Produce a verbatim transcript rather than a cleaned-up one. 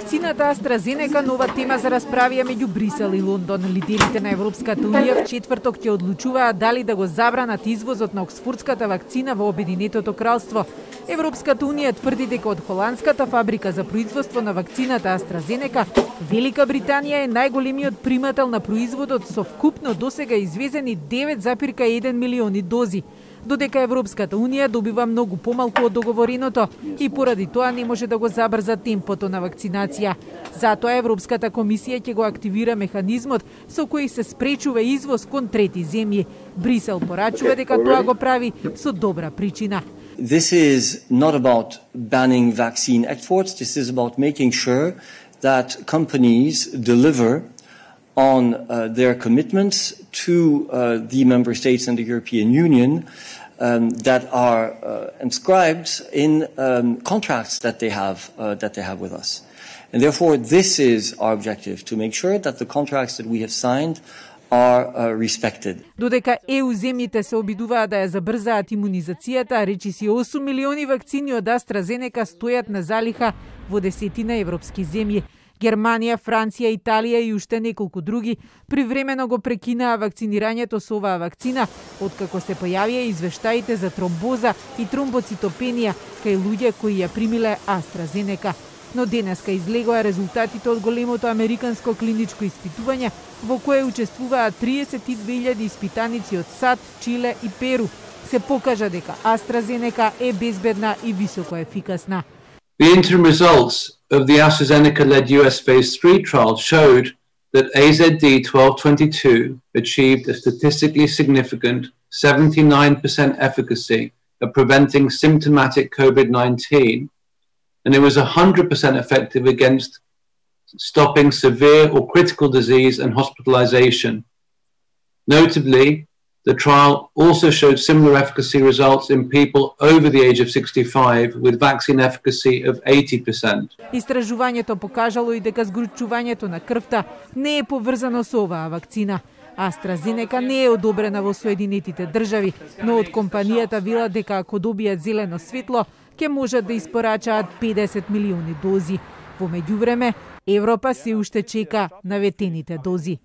Вакцината AstraZeneca нова тема за расправија меѓу Брисел и Лондон. Лидерите на Европската унија в четврток ќе одлучуваат дали да го забранат извозот на оксфордската вакцина во Обединетото кралство. Европската унија тврди дека од холандската фабрика за производство на вакцината AstraZeneca, Велика Британија е најголемиот примател на производот со вкупно досега извезени девет зарез еден милиони дози, додека Европската унија добива многу помалку од договореното и поради тоа не може да го забрза темпото на вакцинација. Затоа Европската комисија ќе го активира механизмот со кој се спречува извоз кон трети земји. Брисел порачува дека тоа го прави со добра причина. This is not about banning vaccine exports. This is about making sure that companies deliver on uh, their commitments to uh, the member states and the European Union um, that are uh, inscribed in um, contracts that they have uh, that they have with us. And therefore, this is our objective, to make sure that the contracts that we have signed are uh, respected. Додека Е У земјите се обидуваат да ја забрзаат имунизацијата, речиси осум милиони вакцини од AstraZeneca стојат на залиха во десетина европски земји. Германија, Франција, Италија и уште неколку други привремено го прекинаа вакцинирањето со оваа вакцина, откако се појавија извештаите за тромбоза и тромбоцитопенија кај луѓе кои ја примиле AstraZeneca. Но денеска излегоа резултатите од големото американско клиничко испитување, во кое учествуваат триесет и две илјади испитаници од САД, Чиле и Перу. Се покажа дека AstraZeneca е безбедна и високо ефикасна. The interim results of the AstraZeneca-led U S phase three trial showed that A Z D twelve twenty-two achieved a statistically significant seventy-nine percent efficacy of preventing symptomatic COVID nineteen, and it was one hundred percent effective against stopping severe or critical disease and hospitalization. Notably, the trial also showed similar efficacy results in people over the age of sixty-five with vaccine efficacy of eighty percent. Истражувањето покажало и дека згручувањето на крвта не е поврзано со оваа вакцина. AstraZeneca не е одобрена во Соединетите држави, но од компанијата вела дека ако добијат зелено светло, ќе можат да испорачаат педесет милиони дози. Во меѓувреме, Европа се уште чека наветените дози.